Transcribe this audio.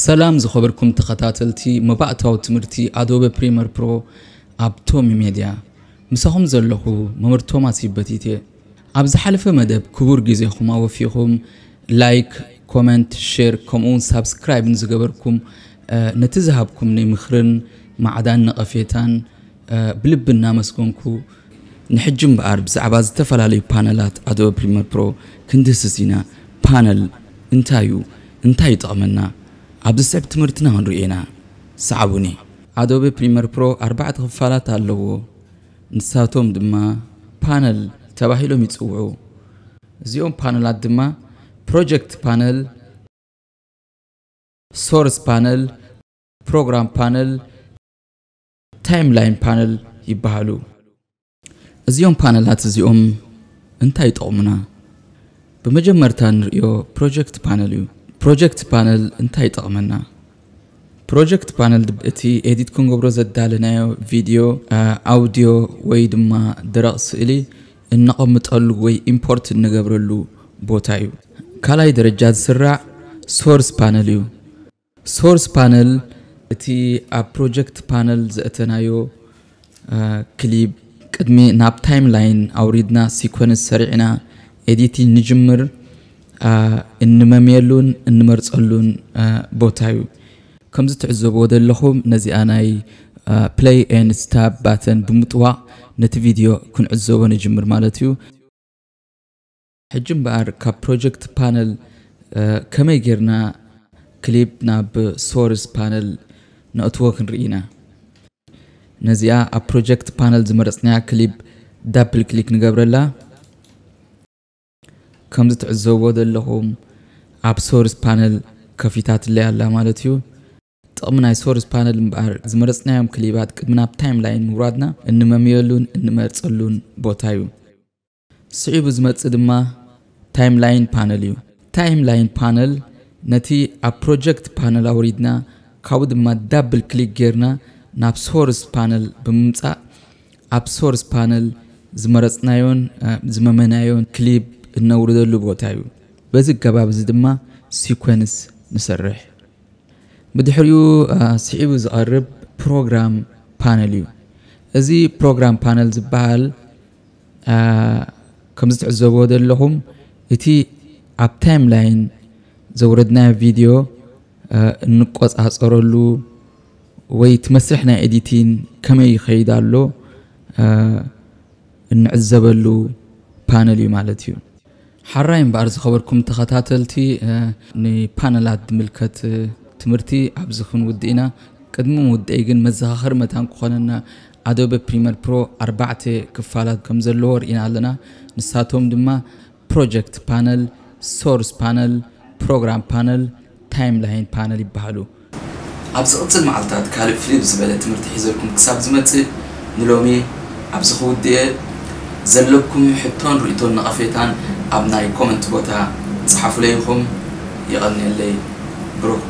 ሰላም ዝኸበርኩም ተኸታተልቲ መባእታዊ ትምህርቲ ኣዶበ ፕሪመር ፕሮ ኣብ ቶሚ ሜድያ። ምሳኹም ዘለኹ መምህር ቶማስ ይበቲት እየ። ኣብ ዝሓለፈ መደብ ክቡር ግዜኹም ኣወፊኹም ላይክ፣ ኮመንት፣ ሼር ከምኡውን ሳብስክራይብ ንዝገበርኩም፣ ነቲ ዝሃብኩምኒ ምኽርን ማዕዳን ነቐፌታን ብልቢ እናመስገንኩ፣ ንሕጂ እምበኣር ብዛዕባ ዝተፈላለዩ ፓነላት ኣዶበ ፕሪመር ፕሮ ክንድህስስ ኢና። ፓነል እንታይ እዩ? እንታይ ይጠቕመና? ኣብ ዝስዕብ ትምህርትና ክንሪኦ ኢና። ሰዓቡኒ። ኣዶበ ፕሪመር ፕሮ ኣርባዕተ ክፋላት ኣለዎ። ንሳቶም ድማ ፓነል ተባሂሎም ይጽውዑ። እዚኦም ፓነላት ድማ ፕሮጀክት ፓነል፣ ሶርስ ፓነል፣ ፕሮግራም ፓነል፣ ታይምላይን ፓነል ይበሃሉ። እዚኦም ፓነላት እዚኦም እንታይ ይጠቕሙና? ብመጀመርታ ንርእዮ ፕሮጀክት ፓነል እዩ። ፕሮጀክት ፓነል እንታይ ይጠቕመና? ፕሮጀክት ፓነል እቲ ኤዲት ክንገብሮ ዘዳለናዮ ቪድዮ፣ ኣውድዮ ወይ ድማ ደረቕ ስእሊ እነቐምጠሉ ወይ ኢምፖርት እንገብረሉ ቦታ እዩ። ካልኣይ ደረጃ ዝስራዕ ሶርስ ፓነል እዩ። ሶርስ ፓነል እቲ ኣብ ፕሮጀክት ፓነል ዘእተናዮ ክሊፕ ቅድሚ ናብ ታይምላይን ኣውሪድና ሲኮንስ ሰሪዕና ኤዲቲንግ ንጅምር እንመምየሉን እንመርፀሉን ቦታ እዩ። ከምዚ ትዕዘብዎ ዘለኹም ነዚኣ ናይ ፕለይ ኤን ስታፕ ባተን ብምጥዋቕ ነቲ ቪድዮ ክንዕዘቦ ንጅምር ማለት እዩ። ሕጂ እምበኣር ካብ ፕሮጀክት ፓነል ከመይ ጌርና ክሊፕ ናብ ሶርስ ፓነል ነእትዎ ክንርኢ ኢና። ነዚኣ ኣብ ፕሮጀክት ፓነል ዝመረፅናያ ክሊፕ ዳብል ክሊክ ንገብረላ። ከምዚ ትዕዘብዎ ዘለኹም ኣብ ሶርስ ፓነል ከፊታትለይ ኣላ ማለት እዩ። ጥቕሚ ናይ ሶርስ ፓነል እምበኣር ዝመረፅናዮም ክሊባት ቅድሚ ናብ ታይምላይን ምውራድና እንመምየሉን እንመርፀሉን ቦታ እዩ። ስዒቡ ዝመጽእ ድማ ታይምላይን ፓነል እዩ። ታይምላይን ፓነል ነቲ ኣብ ፕሮጀክት ፓነል ኣውሪድና ካብኡ ድማ ዳብል ክሊክ ጌርና ናብ ሶርስ ፓነል ብምምጻእ ኣብ ሶርስ ፓነል ዝመረጽናዮን ዝመመናዮን ክሊፕ እነውርደሉ ቦታ እዩ። በዚ ኣገባብ እዚ ድማ ሲኮንስ ንሰርሕ። ብድሕሪኡ ስዒቡ ዝቐርብ ፕሮግራም ፓነል እዩ። እዚ ፕሮግራም ፓነል ዝበሃል ከምዚ ትዕዘብዎ ዘለኹም እቲ ኣብ ታይምላይን ዘውረድናዮ ቪድዮ እንቆፃፀረሉ ወይ እቲ መስርሕ ናይ ኤዲቲን ከመይ ይኸይድ ኣሎ እንዕዘበሉ ፓነል እዩ ማለት እዩ። ሓራይ እምበኣር ዝኸበርኩም ተኸታተልቲ ንፓነላት ዝምልከት ትምህርቲ ኣብዚ ክንውድእ ኢና። ቅድሚ ምውደይ ግን መዘኻኸሪ መታን ክኾነና ኣዶበ ፕሪመር ፕሮ ኣርባዕተ ክፋላት ከም ዘለዎ ርኢና ኣለና። ንሳቶም ድማ ፕሮጀክት ፓነል፣ ሶርስ ፓነል፣ ፕሮግራም ፓነል፣ ታይምላይን ፓነል ይበሃሉ። ኣብ ዝቕጽል መዓልታት ካልእ ፍልይ ዝበለ ትምህርቲ ሒዘልኩም ክሳብ ዝመጽእ ንሎሚ ኣብዚ ክውድእ እየ። ዘለኩም ሕቶን ርእይቶን ነቐፌታን ኣብ ናይ ኮመንት ቦታ ጸሓፉለይ ኢኹም። የቐንየለይ። ብሩኽ